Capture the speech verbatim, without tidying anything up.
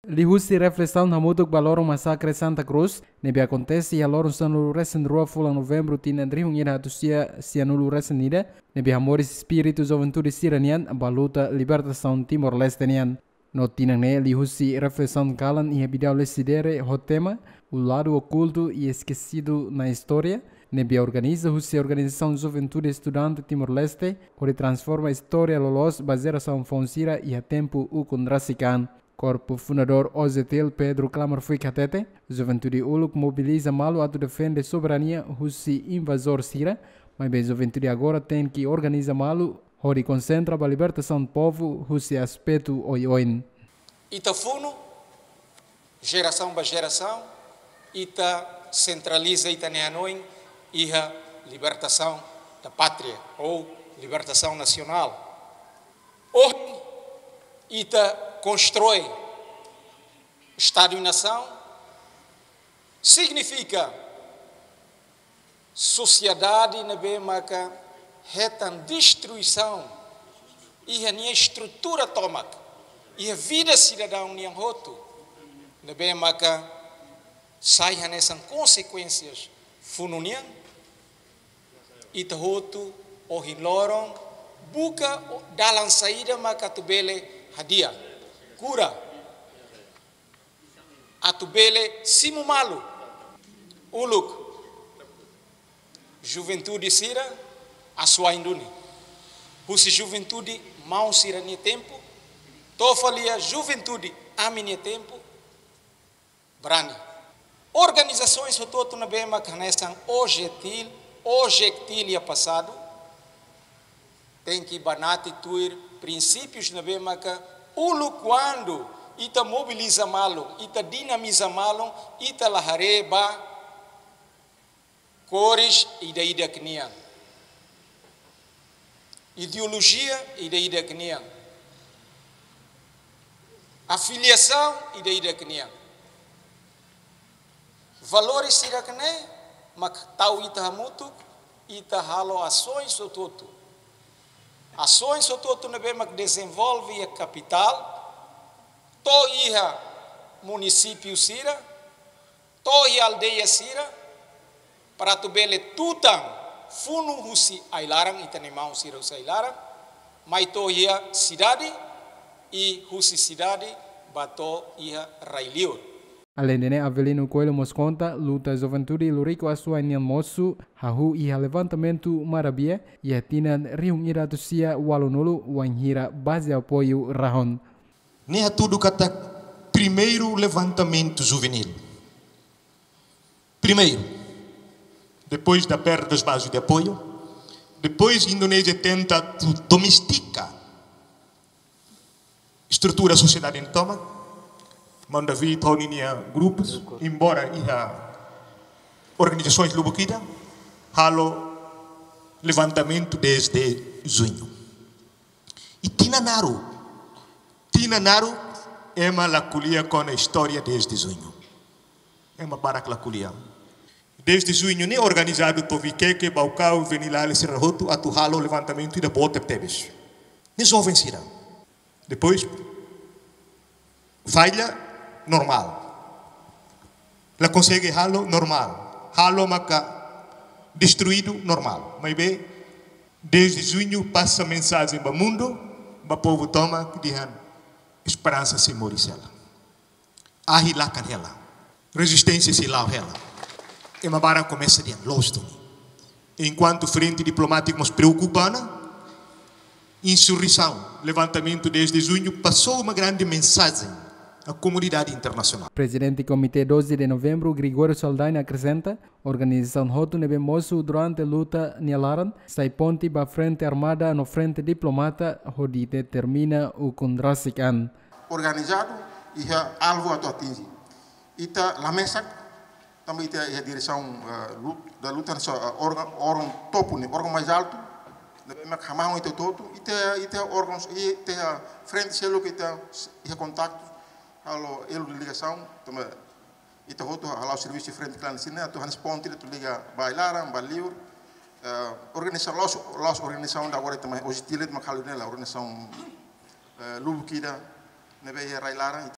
Liuhusi reflesaun hamutuk ba loron masakre Santa Cruz, ne'ebé akontese iha loron sanulu-resin-rua fulan Novembru tinan rihun ida atus sia sianulu-resin-ida, ne'ebé hamoris espíritu juventude sira-nian ba luta libertasaun Timor-Leste nian. No tinan ne'e liuhusi reflesaun kalan iha Bidau Lecidere ho tema O lado oculto e esquecido na história, ne'ebé organiza husi Organizasaun Juventude Estudante Timor-Leste, hodi transforma istória loloos ba jerasaun foun sira iha tempu ukun rasik an. Korpu fundadór OJTL Pedro Klamerfuik hatete, juventude uluk mobiliza malu atu defende soberania husi invazór sira, maibé juventude agora tenke organiza malu hodi konsentra ba libertasaun povu husi aspetu oioin. Ita funu, jerasaun ba jerasaun, ita sentraliza ita-nia hanoin iha libertasaun da pátria ou libertasaun nasionál. Ohin ita konstroi Estadu i nasaun, signifika sosiedade ne'ebé maka hetan destruisaun iha nia estrutura tomak, iha vida sidadaun nian hotu, ne'ebé maka sai hanesan konsekuénsias funu nian. Ita hotu ohin loron buka dalan saida maka atu bele hadi'a, kura, atu bele simu malu. Uluk, juventude sira asuwa'in duni. Husi juventude maun sira-nia tempu, to'o fali iha juventude ami-nia tempu, brani. Organizasoens hotu-hotu ne'ebé maka hanesan OJTL, OJTL iha pasadu, tenke banati tuir prinsípius ne'ebé maka uluk kuandu ita mobiliza malu, ita dinamiza malu, ita la haree ba kores ida-idak nian, ideolojia ida-idak nian, afiliasaun ida-idak nian. Valores sira-ne'e mak tau ita hamutuk, ita halo asoens hotu-hotu. Asoens hotu-hotu ne'ebé mak dezenvolve iha kapitál, to'o iha munisípiu sira, to'o iha aldeia sira, para atu bele tutan funu husi ai-laran, ita-nia maun sira husi ai-laran, mai to'o iha sidade, i husi sidade ba to'o iha rai-liur. Aleinde ne'e, Avelino Coelho mós konta, luta juventude Lurico Assuay nian mosu hahú iha levantamentu Marabia, iha tinan rihun ida atus sia ualunulu, wainhira baze apoiu rahun. Ne'e hatudu katak primeiru levantamentu juvenil. Primeiru, depois da perda das bases de apoio, depois Indonézia tenta tu-, domestika estrutura sosiedade nian tomak, maun David ho ninia grupus, embora iha organizasoens lubuk ida, halo levantamentu dez de juñu. I tinan naruk, tinan naruk, ema la ko'alia kona-ba istória dez de juñu. Ema barak la ko'alia. Dez de juñu ne'e organizadu to'o Viqueque, Baucau, Venilale, sira hotu atu halo levantamentu ida boot tebetebes. Ne'e joven sira. Depois, falla, normál. La konsege halo, normál. Halo maka destruidu, normál. Maibé, dez de juñu pasa mensajen ba mundu, ba povu tomak, dehan esperansa sei moris hela. Ahi lakan hela. Rezisténsia sei la'o hela. Ema barak komesa dehan loos duni. Enkuantu frente diplomátika mós preokupa ona, insurreisaun, levantamentu dez de juñu, pasou uma grande mensagem à comunidade internacional. Prezidente Komité doze de Novembru, Gregório Saldanha, akresenta, organizasaun hotu ne'ebé mosu durante luta nia laran, sai ponte ba frente armada no frente diplomata, hodi determina ukun rasik an. Organizadu iha alvu atu atinji. Ita la mesak, tanba ita iha diresaun, eh, lut-, da luta, so, eh, órgaun, órgaun topu ne'e, órgaun mais altu, ne'ebé mak hamahon ita hotu-hotu, ita, ita órgauns, ita frente seluk ita iha kontaktu, halo elo de ligasaun, tanba ita hotu hala'o servisu frente klandestina, atu hanesan ponte atu liga ba ai-laran, ba liur, eh, organizasaun, la'ós, la'ós organizasaun ida agora ita mai, OJTL mak halo ne'e lae, organizasaun, eh, lubuk ida, ne'ebé iha rai-laran,